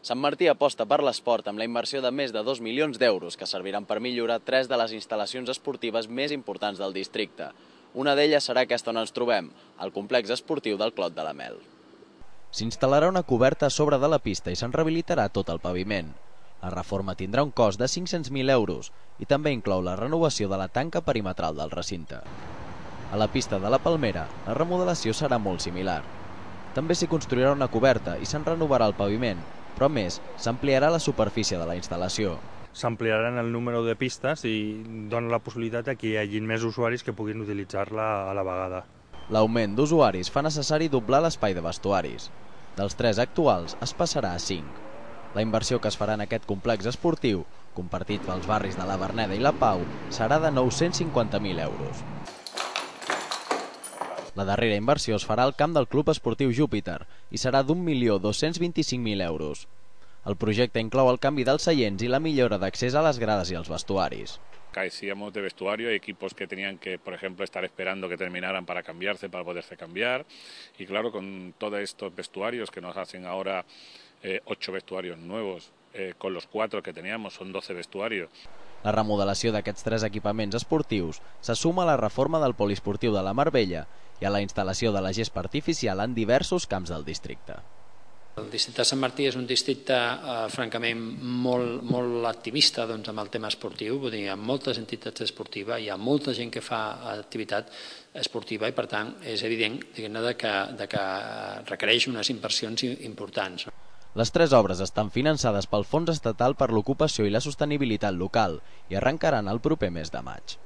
Sant Martí aposta per l'esport amb la inversió de més de 2 milions d'euros que serviran per millorar 3 de les instal·lacions esportives més importants del districte. Una d'elles serà aquesta on ens trobem, el complex esportiu del Clot de la Mel. S'instal·larà una coberta a sobre de la pista i se'n rehabilitarà tot el paviment. La reforma tindrà un cost de 500.000 euros i també inclou la renovació de la tanca perimetral del recinte. A la pista de la Palmera, la remodelació serà molt similar. També s'hi construirà una coberta i se'n renovarà el paviment, però a més, s'ampliarà la superfície de la instal·lació. S'ampliaran el número de pistes i dona la possibilitat que hi hagi més usuaris que puguin utilitzar-la a la vegada. L'augment d'usuaris fa necessari doblar l'espai de vestuaris. Dels 3 actuals es passarà a 5. La inversió que es farà en aquest complex esportiu, compartit pels barris de la Verneda i la Pau, serà de 950.000 euros. La darrera inversió es farà al camp del Club Esportiu Júpiter i serà d'1.225.000 euros. El projecte inclou el canvi dels seients i la millora d'accés a les grades i als vestuaris. Carecíamos de vestuario, hay equipos que tenían que, por ejemplo, estar esperando que terminaran para cambiarse, para poderse cambiar. Y claro, con todos estos vestuarios que nos hacen ahora 8 vestuarios nuevos, con los 4 que teníamos, son 12 vestuarios. La remodelació d'aquests 3 equipaments esportius se suma a la reforma del poliesportiu de la Marbella i a la instal·lació de la gespa artificial en diversos camps del districte. El districte de Sant Martí és un districte francament molt activista amb el tema esportiu, vull dir, hi ha moltes entitats esportives, hi ha molta gent que fa activitat esportiva i per tant és evident que requereix unes inversions importants. Les 3 obres estan finançades pel Fons Estatal per l'Ocupació i la Sostenibilitat Local i arrencaran el proper mes de maig.